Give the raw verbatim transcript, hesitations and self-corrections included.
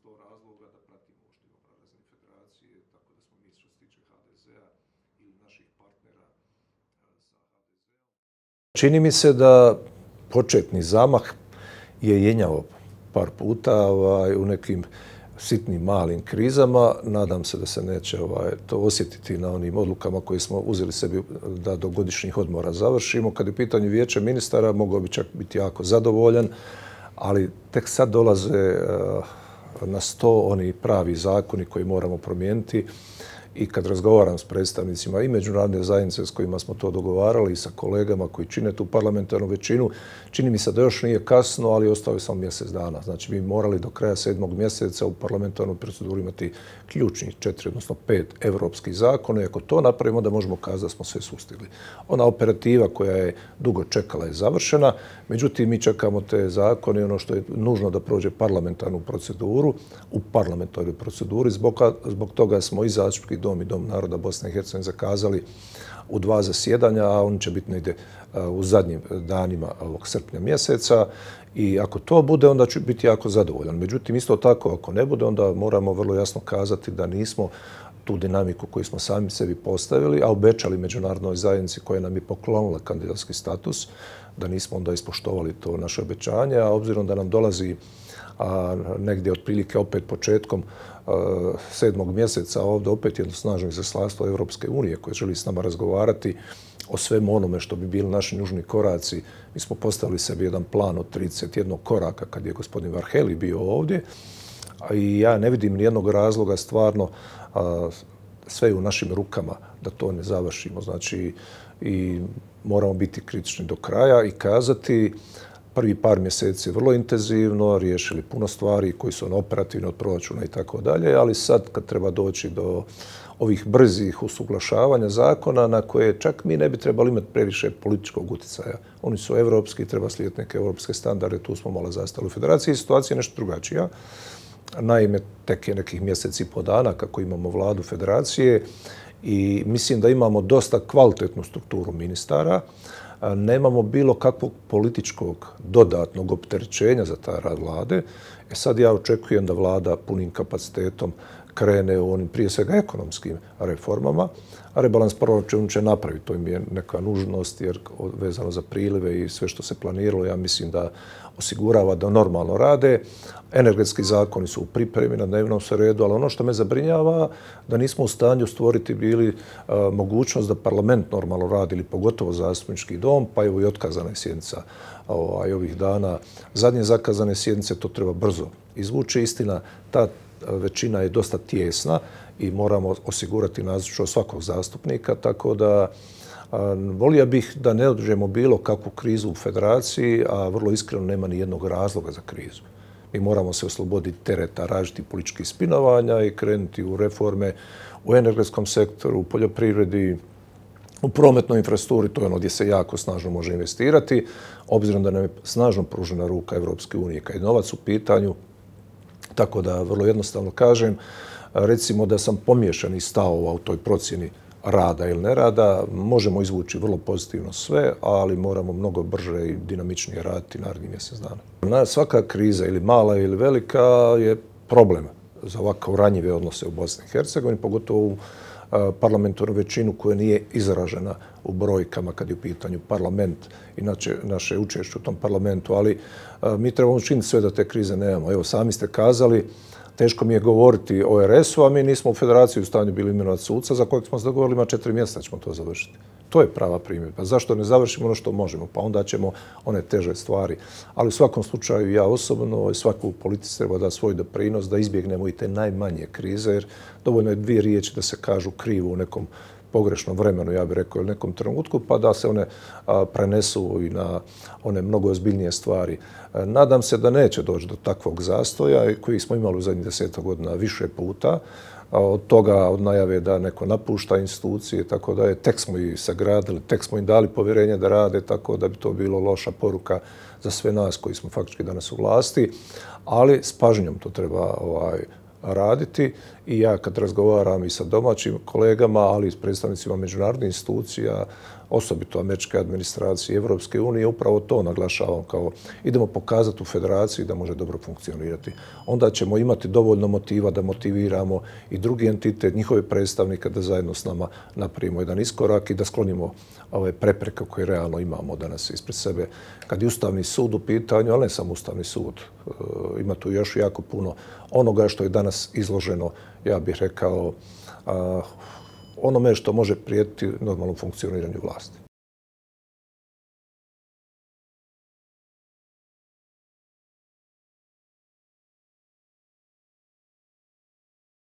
sto razloga da pratimo što imamo na razini federacije, tako da smo mi što se tiče ha de zea ili naših partnera sa ha de zeom. Čini mi se da početni zamah je jenjao par puta ovaj, u nekim sitnim malim krizama. Nadam se da se neće ovaj, to osjetiti na onim odlukama koje smo uzeli sebi da do godišnjih odmora završimo. Kad je u pitanju vijeće ministara, mogao bi čak biti jako zadovoljan, ali tek sad dolaze uh, na sto oni pravi zakoni koji moramo promijeniti. I kad razgovaram s predstavnicima i međunarodne zajednice s kojima smo to dogovarali i sa kolegama koji čine tu parlamentarnu većinu, čini mi se da još nije kasno, ali ostao je samo mjesec dana. Znači, mi morali do kraja sedmog mjeseca u parlamentarnoj proceduri imati ključnih četiri, odnosno pet evropskih zakona. I ako to napravimo, da možemo kazati da smo sve sustigli. Ona operativa koja je dugo čekala je završena, međutim, mi čekamo te zakone i ono što je nužno da prođe parlamentarnu proceduru, u parlamentarnoj proceduri. Zbog, zbog toga smo i zastupnički dom i Dom naroda Bosne i Hercegovine zakazali u dva zasjedanja, a oni će biti negdje u zadnjim danima ovog srpnja mjeseca. I ako to bude, onda ću biti jako zadovoljan. Međutim, isto tako, ako ne bude, onda moramo vrlo jasno kazati da nismo tu dinamiku koju smo sami sebi postavili, a obećali međunarodnoj zajednici koja nam je poklonila kandidatski status, da nismo onda ispoštovali to naše obećanje, a obzirom da nam dolazi a negdje otprilike opet početkom a, sedmog mjeseca ovdje opet jedno snažno izaslanstvo Evropske unije koje želi s nama razgovarati o svemu onome što bi bili naši nužni koraci. Mi smo postavili sebi jedan plan od trideset jedan koraka kad je gospodin Varhelyi bio ovdje, i ja ne vidim nijednog razloga stvarno, a, sve je u našim rukama da to ne završimo. Znači, i moramo biti kritični do kraja i kazati prvi par mjeseci vrlo intenzivno, riješili puno stvari koji su operativni od proračuna i tako dalje, ali sad kad treba doći do ovih brzih usuglašavanja zakona na koje čak mi ne bi trebali imati previše političkog utjecaja. Oni su evropski, treba slijediti neke evropske standarde, tu smo malo zastali u federaciji. Situacija je nešto drugačija. Naime, tek je nekih mjeseci i po dana kako imamo vladu federacije i mislim da imamo dosta kvalitetnu strukturu ministara. Nemamo bilo kakvog političkog dodatnog opterećenja za taj rad vlade. E sad ja očekujem da vlada punim kapacitetom krene u onim prije svega ekonomskim reformama, a rebalans proračuna će napraviti. To im je neka nužnost jer vezano za prilive i sve što se planiralo, ja mislim da osigurava da normalno rade. Energetski zakoni su u pripremi na dnevnom redu, ali ono što me zabrinjava da nismo u stanju stvoriti bili a, mogućnost da parlament normalno radi, ili pogotovo zastupnički dom, pa evo i otkazana je sjednica ovaj, ovih dana. Zadnje zakazane sjednice to treba brzo izvući. Istina, ta većina je dosta tijesna i moramo osigurati nazočnost svakog zastupnika, tako da a, volio bih da ne održemo bilo kakvu krizu u federaciji, a vrlo iskreno nema ni jednog razloga za krizu. Mi moramo se osloboditi tereta različitih političkih spinovanja i krenuti u reforme u energetskom sektoru, u poljoprivredi, u prometnoj infrastrukturi, to je ono gdje se jako snažno može investirati, obzirom da nam je snažno pružena ruka Evropske unije kad je novac u pitanju. Tako da vrlo jednostavno kažem, recimo da sam pomiješani stavova u toj procjeni rada ili nerada, možemo izvući vrlo pozitivno sve, ali moramo mnogo brže i dinamičnije raditi narednih mjesec dana. Svaka kriza, ili mala ili velika, je problem za ovako ranjive odnose u Bosni i Hercegovini, pogotovo u parlamentarnu većinu koja nije izražena u brojkama kad je u pitanju parlament i naše učešće u tom parlamentu, ali mi trebamo učiniti sve da te krize nemamo. Evo, sami ste kazali, teško mi je govoriti o er esu, a mi nismo u federaciji u stanju bili imenovati suca za kojeg smo se dogovorili ima četiri mjeseca ćemo to završiti. To je prava primjedba. Zašto ne završimo ono što možemo? Pa onda ćemo one teže stvari. Ali u svakom slučaju ja osobno i svako u politici treba da svoj doprinos da izbjegnemo i te najmanje krize, jer dovoljno je dvije riječi da se kažu krivo u nekom pogrešnom vremenu, ja bih rekao, ili nekom trenutku, pa da se one a, prenesu i na one mnogo ozbiljnije stvari. A, nadam se da neće doći do takvog zastoja koji smo imali u zadnjih desetak godina više puta. A, od toga, od najave da neko napušta institucije, tako da je, tek smo ih sagradili, tek smo im dali povjerenje da rade, tako da bi to bilo loša poruka za sve nas koji smo faktički danas u vlasti, ali s pažnjom to treba ovaj, raditi i ja kad razgovaram i sa domaćim kolegama, ali i s predstavnicima međunarodnih institucija, osobito američke administracije i Evropske unije, upravo to naglašavam kao idemo pokazati u federaciji da može dobro funkcionirati. Onda ćemo imati dovoljno motiva da motiviramo i drugi entitet, njihove predstavnike da zajedno s nama napravimo jedan iskorak i da sklonimo ove prepreke koje realno imamo danas ispred sebe. Kad je Ustavni sud u pitanju, ali ne samo Ustavni sud, ima tu još jako puno onoga što je danas izloženo, ja bih rekao, onome što može prijetiti normalnom funkcioniranju vlasti.